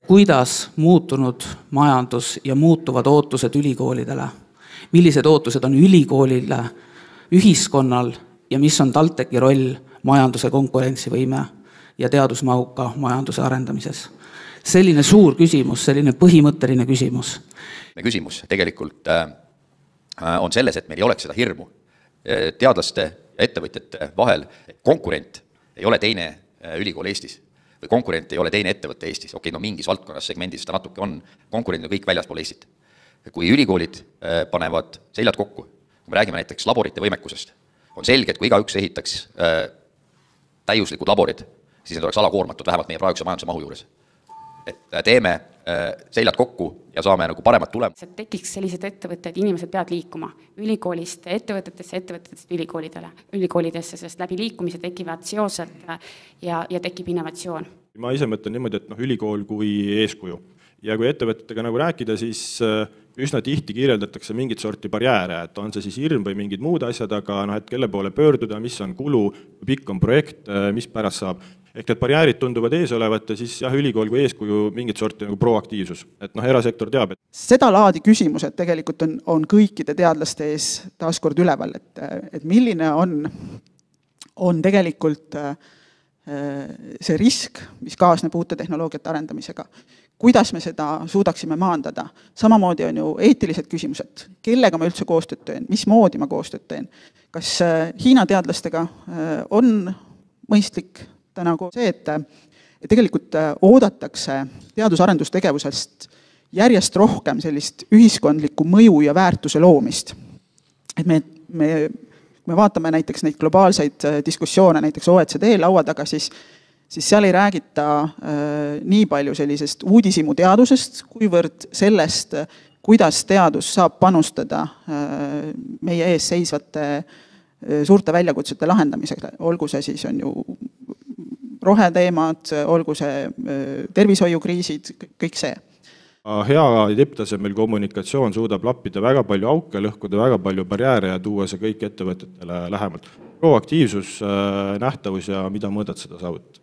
Kuidas muutunud majandus ja muutuvad ootused ülikoolidele? Millised ootused on ülikoolile, ühiskonnal ja mis on TalTechi roll majanduse konkurentsivõime ja teadusmahuka majanduse arendamises? Selline suur küsimus, selline põhimõtteline küsimus. Küsimus tegelikult on selles, et meil ei oleks seda hirmu teadlaste ja ettevõtjate vahel. Konkurent ei ole teine ülikool Eestis või konkurent ei ole teine ettevõtte Eestis. Okei, no mingis valdkonnas segmendis seda natuke on. Konkurent on kõik väljaspool Eestit. Kui ülikoolid panevad seljad kokku, kui me räägime näiteks laborite võimekusest, on selge, et kui igaüks ehitaks täiuslikud laborid, siis need oleks alakoormatud vähemalt meie praeguse majanduse mahu juures. Et teeme seljad kokku ja saame nagu paremat tulemused. Tekiks sellised ettevõtted, inimesed peavad liikuma ülikoolist ettevõtetesse, ettevõtetest ülikoolidesse, sest läbi liikumise tekivad seosed ja tekib innovatsioon. Ma ise mõtlen niimoodi, et ülikool kui eeskuju. Ja kui ettevõtetega nagu rääkida, siis üsna tihti kirjeldatakse mingit sorti barjääre, et on see siis hirm või mingid muud asjad, aga et kelle poole pöörduda, mis on kulu, pikk on projekt, mis pärast saab. Ehk need barjäärid tunduvad ees olevat ja siis ülikool kui eeskuju mingit sorti nagu proaktiivsus. Et erasektor teab. Seda laadi küsimused tegelikult on kõikide teadlaste ees taaskord üleval, et milline on tegelikult see risk, mis kaasneb uute tehnoloogiate arendamisega. Kuidas me seda suudaksime maandada? Samamoodi on ju eetilised küsimused. Kellega ma üldse koostööd teen? Mismoodi ma koostööd teen? Kas Hiina teadlastega on mõistlik nagu see, et tegelikult oodatakse teadus-arendustegevusest järjest rohkem sellist ühiskondlikku mõju ja väärtuse loomist. Et me vaatame näiteks neid globaalseid diskussioone, näiteks OECD laua taga, siis seal ei räägita nii palju sellisest uudisimu teadusest, kuivõrd sellest, kuidas teadus saab panustada meie ees seisvate suurte väljakutsete lahendamisega. Olgu see siis on ju roheteemad, olgu see tervishoiukriisid, kõik see. Hea tipptasemel kommunikatsioon suudab lappida väga palju auke, lõhkuda väga palju barjääre ja tuua see kõik ettevõtetele lähemalt. Proaktiivsus, nähtavus ja mida mõõdad seda saavutada.